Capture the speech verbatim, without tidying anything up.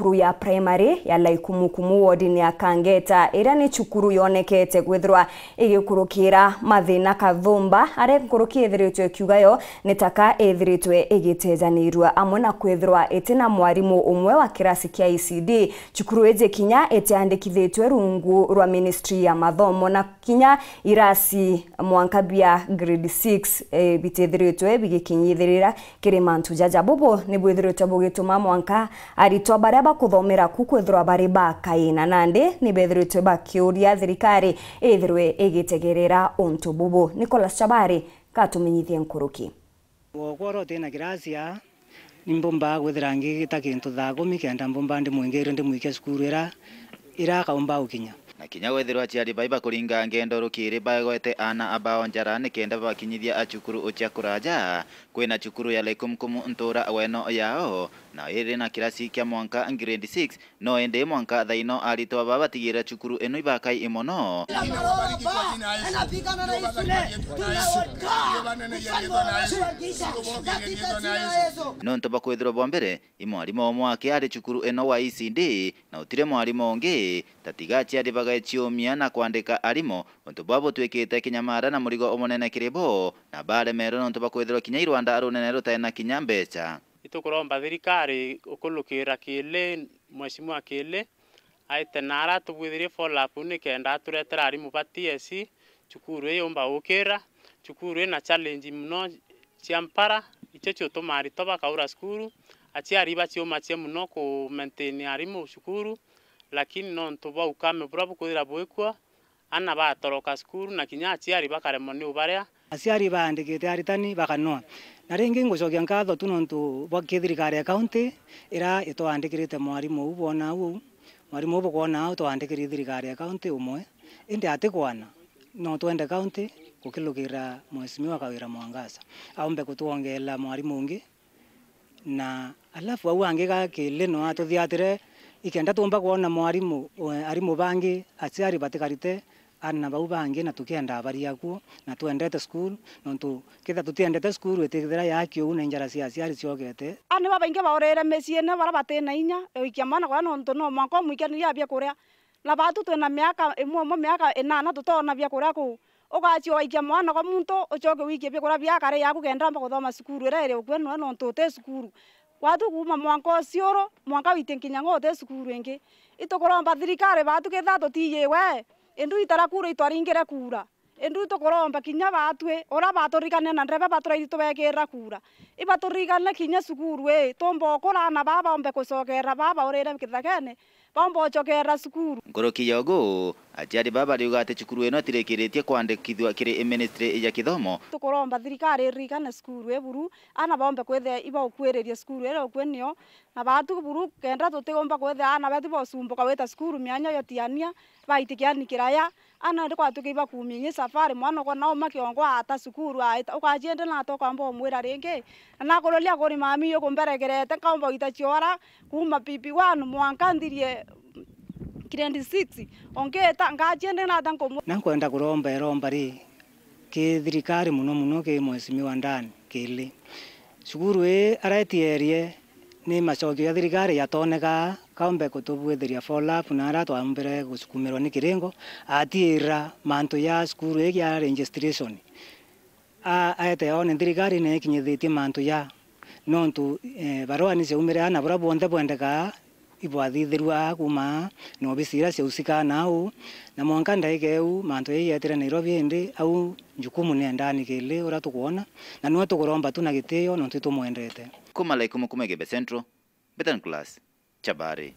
Cukuru ya primary ya Laikumukumu wodini ya Kangeta, iria ni cukuru yonekete kwithirwa igikurukira mathina kathumba, aria nkuruki ithiritwe ikiuga yo ni taka ithiritwe igitejanirua, amwe na kwithirwa itina mwarimu umwe wa kirasi kia E C D. Cukuru iji kinya itiandikithitwe rungu rwa ministry ya mathomo, na kinya irasi mwanka bia grade six, eh, bitithiritwe bigikinyithirira kiri mantu jaja. Bubu ni bwithiritwe bugituma mwanka aritwa baria bakuthomera ku kwithirwa bari bakaina, nandi ni bethiritwe bakiuria thirikari ithirwe igitegerera untu bubu. Nicholas Chabari katumenyithie nkuruki. Gwakwa uria utina kirasi aa, ni mbumbaga kwithira ngigita kintu thaa kumi kenda mbumba ndimwingirire ndimwikia cukuru ira, ira akaumba gukinya. Na kinya wethirwa aciari bai bakuringa ngendo rukiri bagwete aana abao njara nikenda babakinyithia acukuru ucia kuraja, kwina cukuru ya Laikumkum ntura weno yao, na iri na kirasi kia mwanka grade six, no indi mwanka thaino aritwa baba batigirira cukuru ino ibakai mono. Nontu bakwithirwa bwa mbere, i mwarimu umwe aki ari cukuru ino wa E C D, na utire mwarimu ungi, tatiga aciari bagaeciumia na kwandika arimu, untu bwa butwikite kinyamara na murigo umunene kiri bo, na baremerwe nontu bakwithirwa kinya i rwanda runene rutari na kinya mbeca. Itukuromba thirikari ukulukira Kili, Mheshimiwa Kili, aite na ara tubwithirie follow up nikenda aturetera arimu ba T S C, cukuru ii yumba gukira, cukuru ina challenge mono cia mpara, icio ciutuma aritwa bakaura cukuru, aciari baciumacia mono ku maintain arimu cukuru, lakini nontu bwa ukame buria bukwithira bwikuo, aana batoroka cukuru na kinya aciari bakaremwa ni ubaria. Aciari baandikite aritani bakanwa. Na ringi ngucokia nkatho tu nontu bwa kithirikari ya kaunti iria itwandikirite mwarimu uu bwona uu. Mwarimu uu bukwona uu twandikiri thirikari ya kaunti umwe, indi atikwana. No twende kaunti gukilukira Mheshimiwa Kawira Mwangaza aumbe kutwongeela mwarimu ungi. Na alafu au angi ga Kili no atuthiatire, ikenda tumba kwona mwarimu, eh, arimu bangi, aciari batikarite aana bau bangi, na tukienda baria kuo, na twendete cukuru, nontu kethira tutiendete cukuru, itithira yaki uu na injara cia aciari ciokete. Aana babaingi baurire miciine baria batina inya, uikia mwana kuria nontu no mwanka umwikanirie biakuria. Na baatu twina miaka imwe umwe miaka inana tutoona biakuria kuu. Ugacia ugaikia mwana kwa muntu, ucoke wikie biakuria bia kare yaku kenda amba kuthoma cukuru iria iri ukue nwe nontu uti cukuru. Gwatu kuuma mwanka uciuru, mwanka witie nkinya ngo uti cukuru ingi. Itukuromba thirikari baatu kethira tutiyiwe, indu itara kura itwaringire kura. Indu itukuromba kinya baatwi, uria baturikane na ndereba baturaithi tubekirira kura. Ibaturikane kinya cukuru ii, tumba ukura aana baa baumbe kucokerera baa baurire kithakene, baumba ucokerera cukuru. Nkuruki ya ugu, aciari baa bariuga ati cukuru ino itirikiritie kwandikithua kiri ministry ya kithomo. Tukuromba thirikari iririkane cukuru ii buru, aana baumbe kwithia ibaukuiriria cukuru iria ukue nio, na baatu buru kenda tutiumba kwithia aana betu bausumbuka gwita cukuru mianya yotiania, baitikia ni kiraya, aana ndi kwatuika ibakumia inyi safari, mwana ukona uma kiongo aata cukuru aita, ukaciende nata ukamba umwira ringi? Na nakururia kuri mami ukumberegerete, nkaumba gwita ciora kuuma P P one mwanka nthirie grade six, ongeta ngaciende nata nkumu. Na nkwenda kuromba iromba ri ki thirikari, muno muno ki Mheshimiwa Dan Kili. Cukuru ii aretierie ni macokio ja thirikari jatoneka, kaumbe kutubwithiria follow up na aria twaumbire gusukumirwa ni kiringo, atiira mantu ja cukuru ii ja registration. A-, aete one thirikari ni ikinyithitie mantu ja, nontu, eh, barua ni ciaumire aana buria bwonthe bwendekaa ibwathithirua aa kuuma aa, na obisi iria ciausikaa na au, na mwanka ndaika iu mantu jau yeetire Nairobi, indi au njukumu ni endani Kili uria tukwona, na niwe tukuromba tu na gitio nontu itumwendete. Kuuma Laikumukuma Igembe Central, Betan Class, Chabari.